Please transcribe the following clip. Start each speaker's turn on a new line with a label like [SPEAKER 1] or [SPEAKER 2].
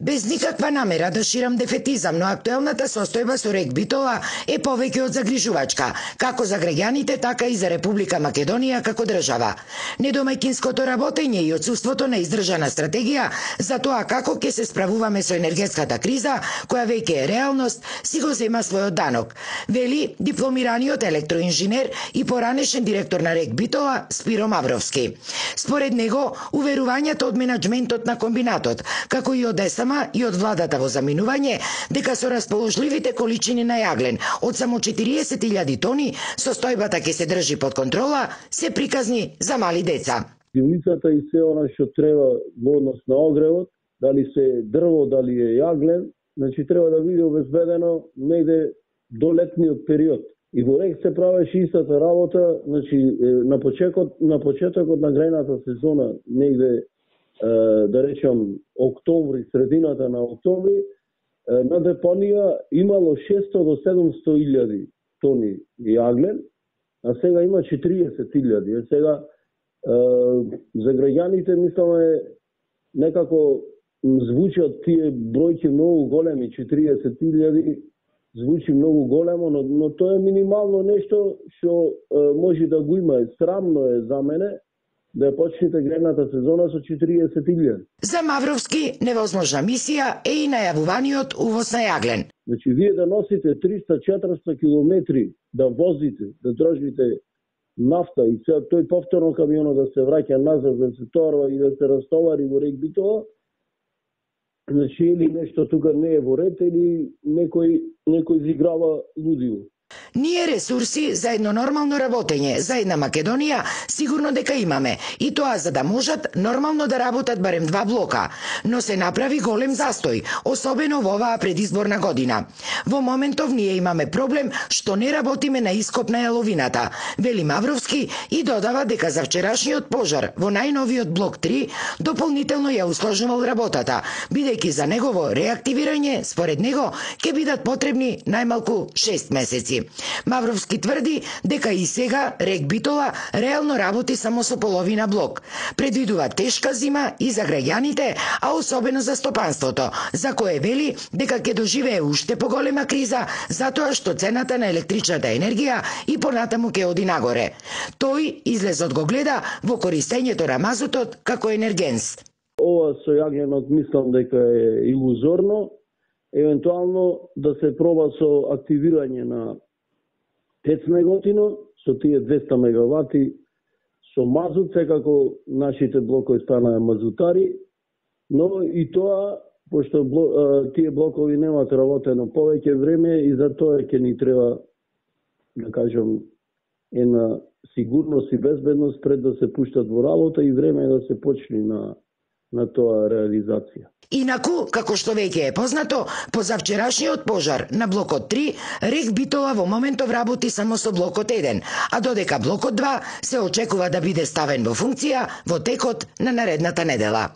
[SPEAKER 1] Без никаква намера да ширам дефетизам, но актуелната состојба со РЕК Битола е повеќе од загрижувачка, како за граѓаните, така и за Република Македонија како држава. Недомајкинското работење и отсуството на издржана стратегија за тоа како ќе се справуваме со енергетската криза, која веќе е реалност, си го зема својот данок, вели дипломираниот електроинженер и поранешен директор на РЕК Битола Спиро Мавровски. Според него, уверувањето од менаџментот на комбинатот, како и од ЕСМ и од владата во заминување, дека со расположливите количини на јаглен од само 40.000 тони, состојбата ќе се држи под контрола, се приказни за мали деца.
[SPEAKER 2] Пивницата и се она што треба во однос на огревот, дали се дрво, дали е јаглен, значи треба да биде обезбедено негде до летниот период. И во РЕК се правеше истата работа, значи на почетокот на грејната сезона, негде да речам октомври, средината на октомври, на депонија имало 600 до 700.000 тони јаглен, а сега има 40.000. Сега за граѓаните мисламе некако звучат тие бројки многу големи, 40.000 звучи многу големо, но тоа е минимално нешто што може да го има. Срамно е за мене да ја почнете грејната сезона со 40.000.
[SPEAKER 1] За Мавровски невозможна мисија е и најавуваниот увоз на јаглен.
[SPEAKER 2] Значи, вие да носите 300-400 километри, да возите, да држите нафта и тој повторно камионот да се враќа назад, да се товарва и да се растовари во РЕК Битола, значи или нешто тука не е во ред, или некој изиграва лудиво.
[SPEAKER 1] Ние ресурси за едно нормално работење, за една Македонија, сигурно дека имаме, и тоа за да можат нормално да работат барем 2 блока, но се направи голем застој, особено во оваа предизборна година. Во моментов ние имаме проблем што не работиме на ископ на јаловината, вели Мавровски и додава дека за вчерашниот пожар во најновиот блок 3 дополнително ја усложнувал работата, бидејќи за негово реактивирање, според него, ќе бидат потребни најмалку 6 месеци. Мавровски тврди дека и сега РЕК Битола реално работи само со половина блок. Предвидува тешка зима и за граѓаните, а особено за стопанството, за кое вели дека ќе доживее уште поголема криза, затоа што цената на електричната енергија и понатаму ќе оди нагоре. Тој излезот го гледа во користењето на мазутот како енергенс.
[SPEAKER 2] Ова со јагленот мислам дека е илузорно, евентуално да се проба со активирање на ТЕЦ Неготино, со тие 200 мегавати, со мазут, секако нашите блокови станаа мазутари, но и тоа, пошто тие блокови немаат работено повеќе време и за тоа ќе ни треба, да кажем, една сигурност и безбедност пред да се пуштат во работа и време да се почне на тоа реализација.
[SPEAKER 1] Инаку, како што веќе е познато, по завчерашниот пожар на блокот 3, РЕК Битола во моментов работи само со блокот 1, а додека блокот 2 се очекува да биде ставен во функција во текот на наредната недела.